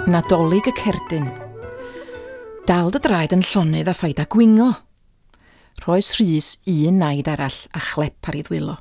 Nadolig y cerdyn. Dal dy draed yn llonydd a phaid â gwingo. Rhoes Rhys un naid arall a chlep ar ei ddwylo.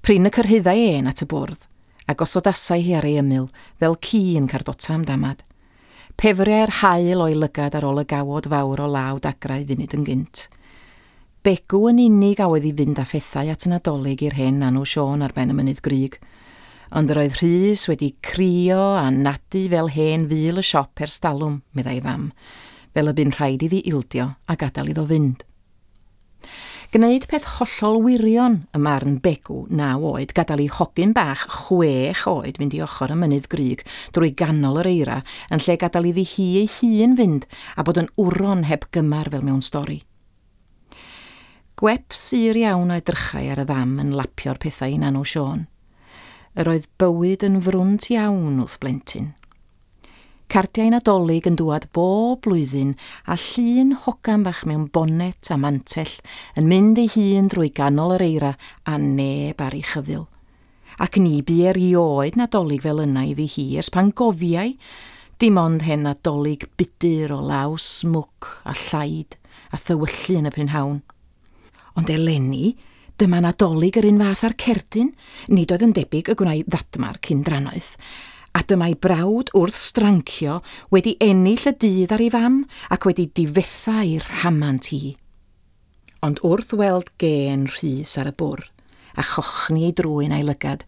Prin y cyrhaeddai ên at y bwrdd, a gosodasai hi ar ei ymyl, fel ci yn cardota am damad. Pefriai'r haul o'i lygad ar ôl y gawod fawr o law dagrau funud yn gynt. Begw yn unig a oedd i fynd â phethau at y Nadolig i'r hen Nanw Siôn ar ben y mynydd grug. Ond yr oedd Rhys wedi crio a nadu fel hen ful y siop ers talwm, meddai fam, fel y bu'n rhaid iddi ildio a gadael iddo fynd. Gwneud peth hollol wirion ym marn Begw, naw oed, gadael i hogyn bach 6 oed fynd i ochr y mynydd grug drwy ganol yr eira yn lle gadael iddi hi ei hun fynd a bod yn wron heb gymar fel mewn stori. Gwep sur iawn a edrychai ar y fam yn lapio'r pethau i Nanw Siôn. Yr oedd bywyd yn frwnt iawn wrth blentyn. Cardiau Nadolig yn dŵad bob blwyddyn a llun hogan bach mewn bonet a mantell yn mynd ei hun drwy ganol yr eira a neb ar ei chyfyl. Ac ni bu erioed Nadolig fel yna iddi hi ers pan gofiai, dim ond hen Nadolig budur o law smwc a llaid a thywyllu yn y prynhawn. Ond eleni, dyma Nadolig yr un fath â'r cerdyn, nid oedd yn debyg y gwnai ddadmar cyn drannoeth, a dyma'i brawd wrth strancio wedi ennill y dydd ar ei fam ac wedi difetha ei rhamant hi. Ond wrth weld gên Rhys ar y bwr a chochni ei drwyn a'i lygad,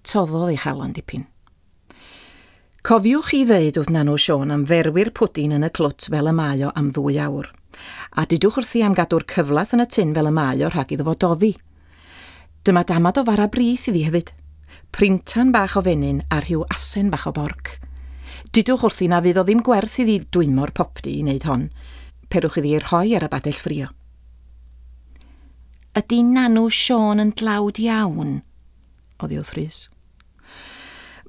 toddodd ei chalon dipyn. Cofiwch i ddeud wrth Nanw Siôn am ferwi'r pwdin yn y clwt fel y mae o am 2 awr. A dudwch wrthi am gadw'r cyflath yn y tun fel y mae o rhag iddo fo doddi. Dyma damad o fara brith iddi hefyd. Printan bach o fenyn a rhyw asen bach o borc. Dudwch wrthi na fydd o ddim gwerth iddi dwymo'r popty i wneud hon. Perwch iddi ei rhoi ar y badell ffrio. Ydy Nanw Siôn yn dlawd iawn? Oddi wrth Rhys.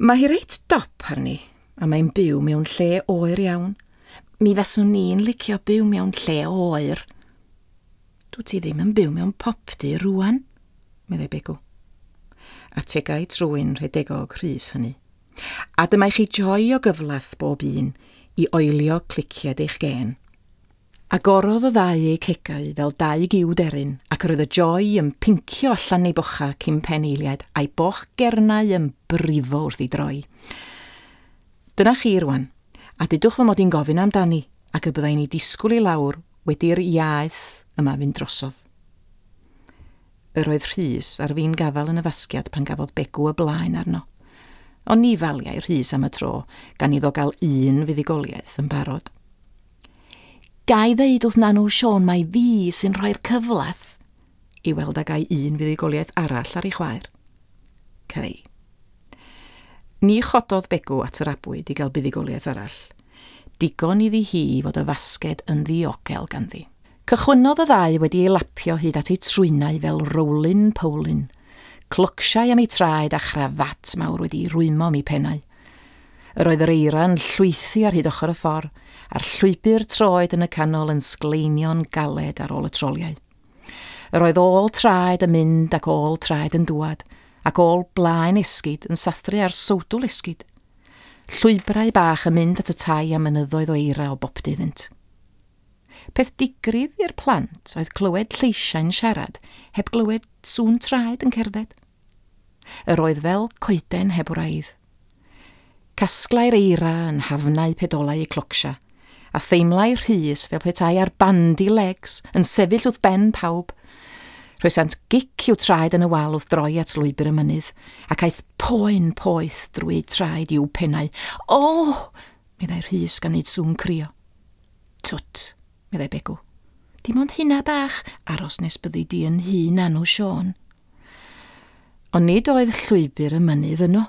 Mae hi reit dop arni, a mae'n byw mewn lle oer iawn. Mi faswn ni'n licio byw mewn lle oer. Dwyt ti ddim yn byw mewn popty rŵan, meddai Begw. Ategai trwyn rhedegog Rhys hynny. A dyma i chi joi o gyflath bob un i oelio cliciad eich gên. Agorodd y ddau eu cegau fel dau giw deryn, ac yr oedd y joi yn pincio allan ei bocha cyn pen eiliad, a'i boch gernau yn brifo wrth ei droi. Dyna chi rwan, a dudwch fy mod i'n gofyn amdani, ac y byddai'n ei disgwyl i lawr wedi'r iaith yma fynd drosodd. Yr oedd Rhys ar fin gafael yn y fasgiad pan gafodd Begw y blaen arno. Ond ni faliai Rhys am y tro, gan iddo gael un fuddugoliaeth yn barod. Gai ddeud wrth Nanw Siôn mai fi sy'n rhoi'r cyflath i weld a gai un fuddugoliaeth arall ar ei chwaer. Cei. Ni chododd Begw at yr abwyd i gael buddugoliaeth arall. Digon iddi hi fod y fasged yn ddiogel ganddi. Cychwynnodd y ddau wedi ei lapio hyd at ei trwynau fel rowlin powlin. Clocsiau am ei traed a chrafat mawr wedi rwymo am ei pennau. Yr oedd yr eira'n llwythi ar hyd ochr y ffordd, a'r llwybr troed yn y canol yn sgleinio'n galed ar ôl y troliau. Yr oedd ôl traed yn mynd ac ôl traed yn dŵad, ac ôl blaen esgid yn sathru ar sowdwl esgid. Llwybrau bach yn mynd at y tai a mynyddoedd o eira o boptu iddynt. Peth digrif i'r plant oedd clywed lleisiau'n siarad, heb glywed sŵn traed yn cerdded. Yr oedd fel coeden heb wraidd. Casglai'r eira yn hafnau pedolau eu clocsia, a theimlai Rhys fel petai ar bandy legs yn sefyll wrth ben pawb. Rhoesant gic i'w traed yn y wal wrth droi at lwybr y mynydd, ac aeth poen poeth drwy eu traed i'w pennau. O! Meddai Rhys gan wneud sŵn crio. Twt, meddai Begw. Dim ond hynna bach, aros nes byddi di yn hŷn Nanw Siôn. Ond nid oedd llwybr y mynydd yno.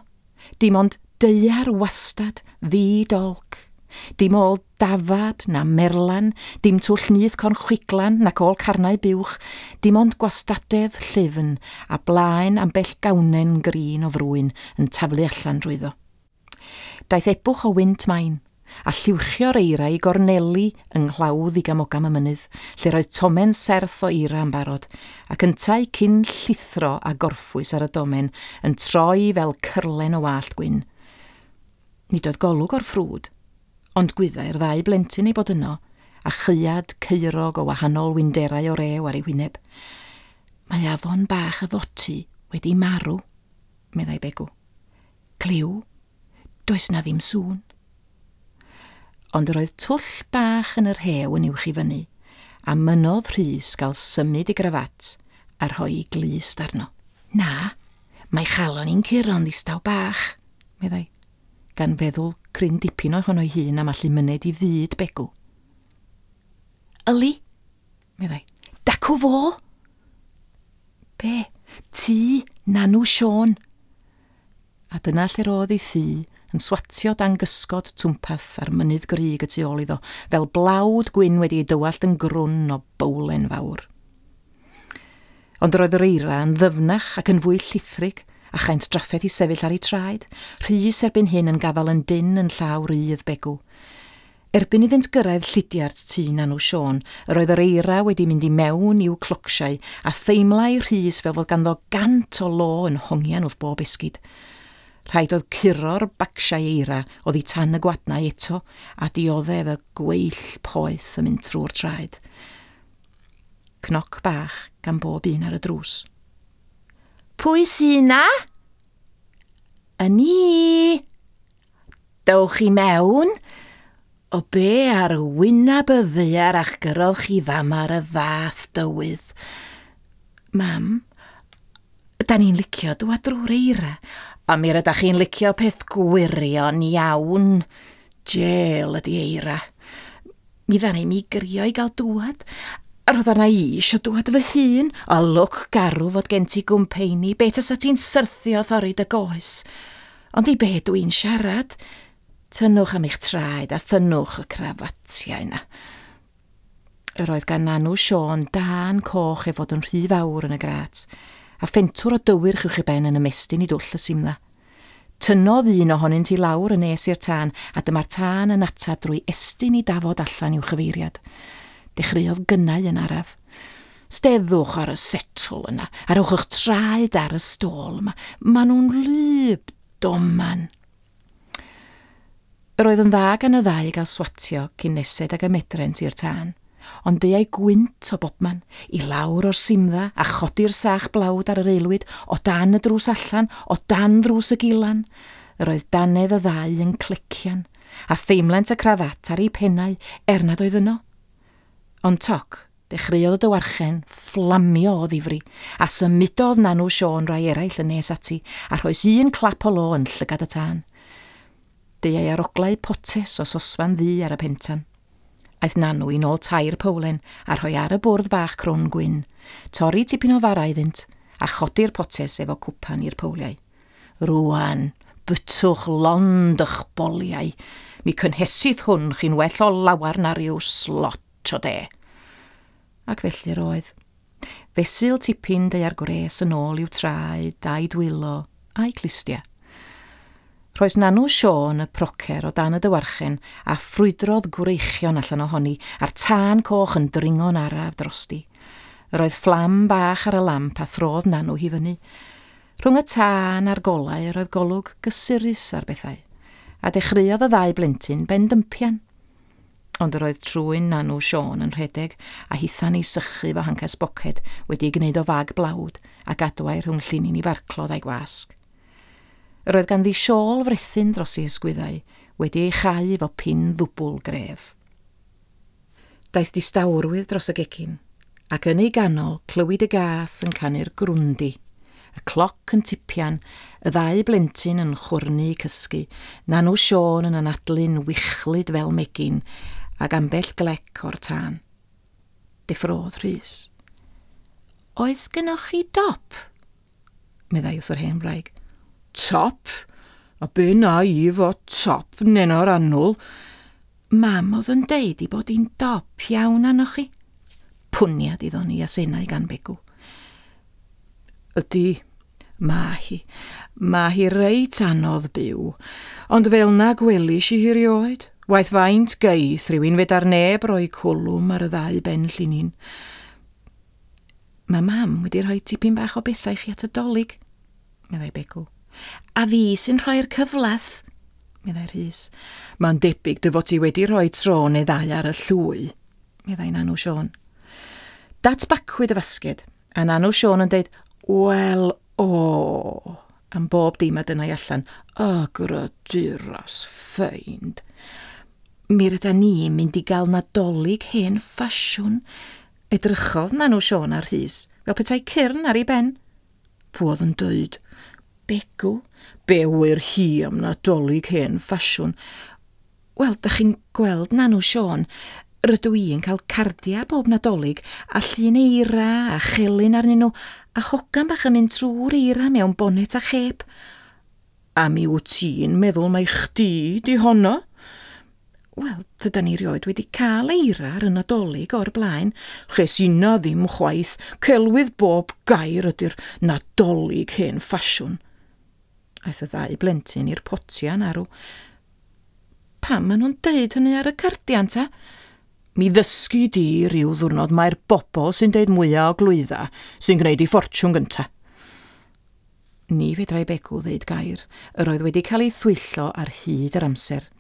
Dim ond daear wastad, ddi-dolc. Dim ôl dafad na merlan, dim twll nyth cornchwiglan nac ôl carnau buwch, dim ond gwastadedd llyfn a blaen ambell gawnen grin o frwyn yn taflu allan drwyddo. Daeth ebwch o wynt main, a lliwchio'r eira i gorneli yng nghlawdd igamogam y mynydd, lle roedd tomen serth o eira yn barod, ac yntau cyn llithro a gorffwys ar y domen yn troi fel cyrlen o wallt gwyn. Nid oedd golwg o'r ffrwd, Ond gwyddai'r ddau blentyn ei bod yno, a chaead caerog o wahanol winderau o rew ar ei hwyneb. Mae afon bach y Foty wedi marw, meddai Begw. Cliw, does na ddim sŵn. Ond yr oedd twll bach yn yr hew yn uwch i fyny, a mynnodd Rhys gael symud ei grafat a rhoi ei glust arno. Na, mae chalon i'n curo'n ddistaw bach, meddai, gan feddwl cryn dipyn ohono'i hun am allu myned i fyd Begw. Yli, meddai, dacw fo! Be? Tŷ Nanw Siôn. A dyna lle'r oedd ei thŷ, yn swatio dan gysgod twmpath a'r mynydd grug y tu ôl iddo, fel blawd gwyn wedi ei dywallt yn grwn o bowlen fawr. Ond yr oedd yr eira yn ddyfnach ac yn fwy llithrig, a chaent drafferth i sefyll ar eu traed, Rhys erbyn hyn yn gafael yn dynn yn llaw rydd Begw. Erbyn iddynt gyrraedd llidiart tŷ Nanw Siôn, yr oedd yr eira wedi mynd i mewn i'w clocsiau, a theimlai Rhys fel fod ganddo gant o lo yn hongian wrth bob esgid. Rhaid oedd curo'r bacsiau eira oddi tan y gwadnau eto, a dioddef y gweill poeth yn mynd trwy'r traed. Cnoc bach gan bob un ar y drws. Pwy sy 'na? Y ni! Dowch i mewn! O be ar wyneb y ddaear a'ch gyrrodd chi fama ar y fath dywydd? Mam, da ni'n licio dŵad drwy'r eira, a mi rydach chi'n licio peth gwirion iawn. Jêl ydi eira. Mi ddaru mi grio i gael dŵad, a roedd arna i isio dŵad fy hun, a lwc garw fod gen ti gwmpeini, be tasa ti'n syrthio thorri dy goes? Ond i be dwi'n siarad? Tynnwch am eich traed a thynnwch y crafatiau yna. Yr oedd gan Nanw Siôn dân coch ei fod yn rhy fawr yn y grât, a phentwr o dywyrch uwch ei ben yn ymestyn i dwll y simdda. Tynnodd un ohonynt i lawr yn nes i'r tân, a dyma'r tân yn ateb drwy estyn ei dafod allan i'w chyfeiriad. Dechreuodd gynnau yn araf. Steddwch ar y setl yna, a rhowch eich traed ar y stôl yma. Maen nhw'n wlyb, doman. Yr oedd yn dda gan y ddau gael swatio cyn nesed ag y medrent i'r tân, ond deuai gwynt o bobman, i lawr o'r simdda a chodi'r sach blawd ar yr aelwyd, o dan y drws allan, o dan ddrws y gilan. Yr oedd dannedd y ddau yn clecian, a theimlent y crafat ar eu pennau er nad oedd yno. Ond toc, dechreuodd y dywarchen fflamio o ddifri, a symudodd Nanw Siôn rai eraill yn nes ati, a rhoes un clap o lo yn llygad y tân. Deuai aroglau potes o sosban ddu ar y pentan. Aeth Nanw i nôl tair powlen a rhoi ar y bwrdd bach crwn gwyn, torri tipyn o fara iddynt, a chodi'r potes efo cwpan i'r powliau. Rŵan, bytwch lond ych boliau. Mi cynhesith hwn chi'n well o lawar na rhyw slot o de. Ac felly yr oedd. Fesul tipyn deuai'r gwres yn ôl i'w traed, a'i dwylo, a'i clustia. Rhoes Nanw Siôn y procer o dan y dywarchen a ffrwydrodd gwreichion allan ohoni, a'r tân coch yn dringo'n araf drosti. Yr oedd fflam bach ar y lamp a throdd Nanw hi fyny. Rhwng y tân a'r golau yr oedd golwg gysurus ar bethau, a dechreuodd y ddau blentyn bendympian. Ond yr oedd trwyn Nanw Siôn yn rhedeg, a hitha'n ei sychu fo hancas boced wedi ei gwneud o fag blawd a gadwai rhwng llinyn i farclod a'i gwasg. Yr oedd ganddi siôl frethyn dros ei hysgwyddau, wedi ei chau efo pin ddwbl gref. Daeth distawrwydd dros y gegin, ac yn ei ganol clywid y gath yn canu'r grwndi, y cloc yn tipian, y ddau blentyn yn chwrnu cysgu, Nanw Siôn yn anadlu'n wichlyd fel megin, ac ambell glec o'r tân. Deffrodd Rhys. Oes gynnoch chi dop? Meddai wrth yr hen wraig. Top? A be na i fo top, neno'r annwl? Mam oedd yn deud i bod hi'n dop iawn arnoch chi. Pwniad iddo ni asennau gan Begw. Ydy, mae hi. Mae hi reit anodd byw, ond fel na gwelish i hi rioed. Waeth faint geith rhywun fedar neb roi cwlwm ar y ddau ben llinyn. Mae mam wedi rhoi tipyn bach o bethau i chi at y Dolig, meddai Begw. A fi sy'n rhoi'r cyflath, meddai Rhys. Mae'n debyg dy fod ti wedi rhoi tro neu ddau ar y llwy, meddai Nanw Siôn. Datbacwyd y fasged, a Nanw Siôn yn deud, Wel, o, am bob dim a dyna i allan, y graduras ffeind. Mi ryda ni'n mynd i gael Nadolig hen ffasiwn. Edrychodd Nanw Siôn ar Rhys, fel petai cyrn ar ei ben. Pw oedd yn dweud? Begw? Be wyr hi am Nadolig hen ffasiwn? Wel, da chi'n gweld Nanw Siôn, rydw i yn cael cardia bob Nadolig a llun eira a chelyn arnyn nhw a hogan bach yn mynd trwy'r eira mewn bonet a chep. A mi wyt ti'n meddwl mai chdi di honno? Wel, tydan ni rioed wedi cael eira ar y Nadolig o'r blaen. Ches inna ddim chwaith, celwydd bob gair ydy'r Nadolig hen ffasiwn. Aeth y ddau blentyn i'r potian arw. Pam maen nhw'n deud hynny ar y cardian ta? Mi ddysgu di ryw ddwrnod mae'r bobl sy'n deud mwyaf o glwydda sy'n gwneud i ffortiwn gynta. Ni fedrai Begw ddeud gair. Yr oedd wedi cael ei thwyllo ar hyd yr amser.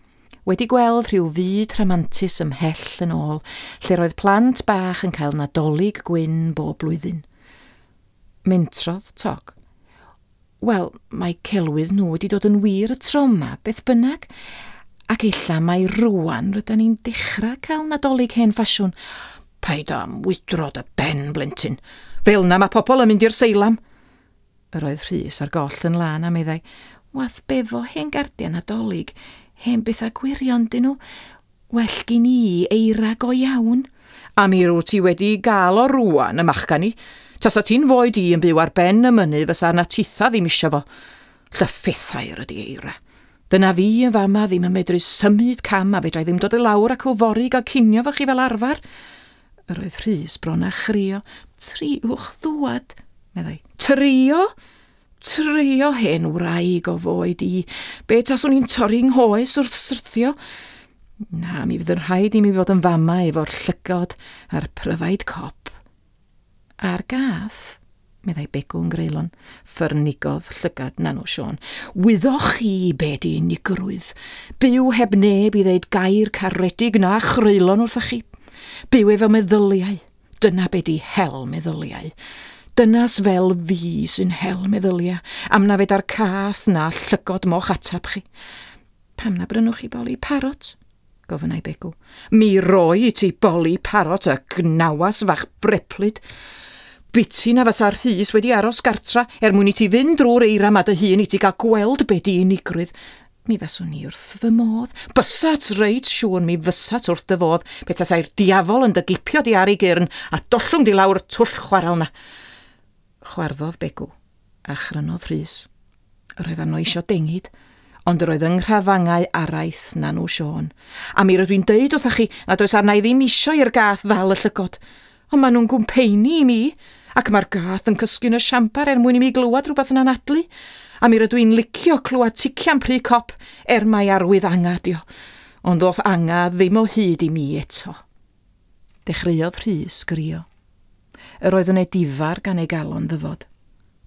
Wedi gweld rhyw fyd rhamantus ymhell yn ôl, lle roedd plant bach yn cael Nadolig gwyn bob blwyddyn. Mentrodd Toc. Wel, mae celwydd nhw wedi dod yn wir y tro yma, beth bynnag. Ac ella mai rwan rydan ni'n dechrau cael Nadolig hen ffasiwn. Paid am wydro dy ben, blentyn. Fel na mae pobl yn mynd i'r seilam. Yr oedd Rhys ar goll yn lân a meddai, Wath befo hen gardiau Nadolig, hen bethau gwirion dyn nhw. Well gin i eira go iawn. A mi rwyt ti wedi gael o rwan, y machgan i. Tasa ti'n foed i yn byw ar ben y mynydd fysa na titha ddim isio fo. Llyffethair ydi eira. Dyna fi yn fama ddim yn medru symud cam a fedrai ddim dod i lawr ac o fory gael cinio fo chi fel arfer. Yr oedd Rhys bron â chrio. Triwch ddwad, meddai. Trio? Trio hen wraig o foed i. Be taswn i'n torri nghoes wrth syrthio? Na, mi fydd yn rhaid i mi fod yn fama efo'r llygod a'r pryfaid cop. A'r gath, meddai Begw'n greulon, ffyrnigodd llygad Nanw Siôn. Wyddoch chi be di unigrwydd? Byw heb neb i ddeud gair caredig na chreulon wrthych chi. Byw efo meddyliau. Dyna be di hel meddyliau. Dynas fel fi sy'n hel meddyliau, am na feda'r cath na llygod moch atab chi. Pam na brynwch chi boli parot? Gofynnai Begw. Mi roi i ti boli parot y gnawas fach breplyd. Biti na fysa'r Rhys wedi aros gartra er mwyn i ti fynd drwy'r eira ma dy hun i ti gael gweld be di unigrwydd. Mi faswn i wrth fy modd. Bysat reit siŵr mi fysat wrth dy fodd pe tasai'r diafol yn dy gipio di ar ei gyrn a dollwng di lawr twll chwarel na. Chwarddodd Begw a chrynodd Rhys. Yr oedd arno isio dengid, ond yr oedd yng nghrafangau araith Nanw Siôn. A mi rydw i'n deud wrthach chi nad oes arna i ddim isio i'r gath ddal y llygod. Ond maen nhw'n gwmpeini i mi, ac mae'r gath yn cysgu yn y siambar er mwyn i mi glywed rhywbeth yn anadlu. A mi rydw i'n licio clywed tician pry cop er mai arwydd anga dio. Ond ddoth anga ddim o hyd i mi eto. Dechreuodd Rhys grio. Yr oedd yn edifar gan ei galon ddyfod.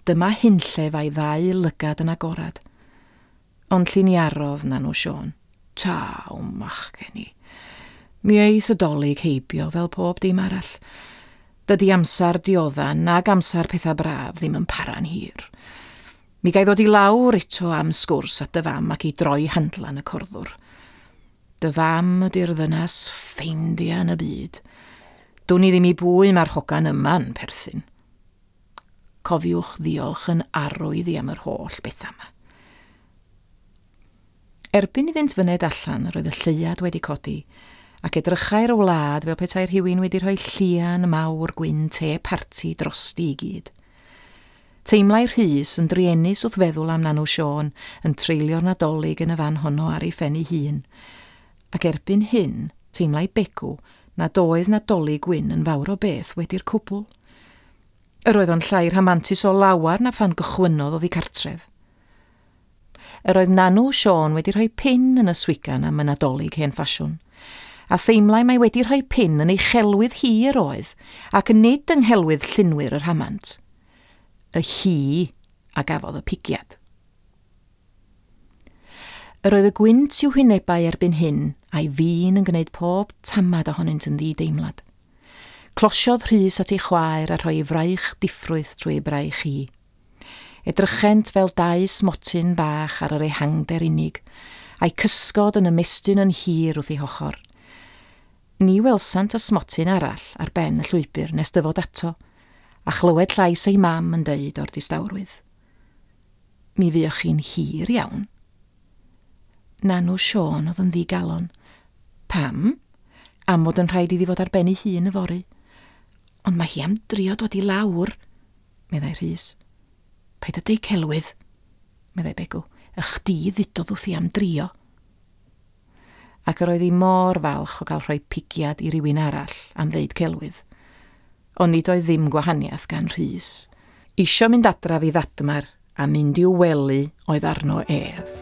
Dyma hunllef a'i ddau lygad yn agorad. Ond lliniarodd Nanw Siôn. Taw, machgen i. Mi eith y dolyg heibio fel pob dim arall. Dydy amser dioddan nag amser pethau braf ddim yn para'n hir. Mi gai ddod i lawr eto am sgwrs at dy fam ac i droi handlan y corddwr. Dy fam ydy'r ddynas ffeindia yn y byd. Dwn i ddim i bwy mae'r hogan yma'n perthyn. Cofiwch ddiolch yn arwydd i am yr holl bethau yma. Erbyn iddynt fyned allan, roedd y lleuad wedi codi, ac edrychai'r wlad fel petai rhywun wedi rhoi llian mawr gwyn te parti drosti i gyd. Teimlai Rhys yn druenus wrth feddwl am Nanw Siôn yn treulio'r Nadolig yn y fan honno ar ei phen ei hun. Ac erbyn hyn, teimlai Begw nad oedd Nadolig gwyn yn fawr o beth wedi'r cwbl. Yr oedd o'n llai rhamantus o lawar na phan gychwynnodd oddi cartref. Yr oedd Nanw Siôn wedi rhoi pin yn y swigan am y Nadolig hen ffasiwn, a theimlai mai wedi rhoi pin yn ei chelwydd hi yr oedd, ac nid yng nghelwydd llunwyr y rhamant. Y hi a gafodd y pigiad. Yr oedd y gwynt i'w hwynebau erbyn hyn, a'i fin yn gwneud pob tamad ohonynt yn ddi-deimlad. Closiodd Rhys at ei chwaer a rhoi ei fraich diffrwyth trwy ei braich hi. Edrychent fel dau smotyn bach ar yr ehangder unig, a'i cysgod yn ymestyn yn hir wrth ei hochr. Ni welsant y smotyn arall ar ben y llwybr nes dyfod ato, a chlywed llais ei mam yn deud o'r distawrwydd. Mi fuoch chi'n hir iawn. Nanw Siôn oedd yn ddigalon. Pam? Am fod yn rhaid iddi fod ar ben ei hun yfory. Ond mae hi am drio dod i lawr, meddai Rhys. Paid â deud celwydd, meddai Begw. Y chdi ddudodd wrthi am drio. Ac yr oedd hi mor falch o gael rhoi pigiad i rywun arall am ddeud celwydd. Ond nid oedd ddim gwahaniaeth gan Rhys. Isio mynd adref i ddadmar a mynd i'w wely oedd arno ef.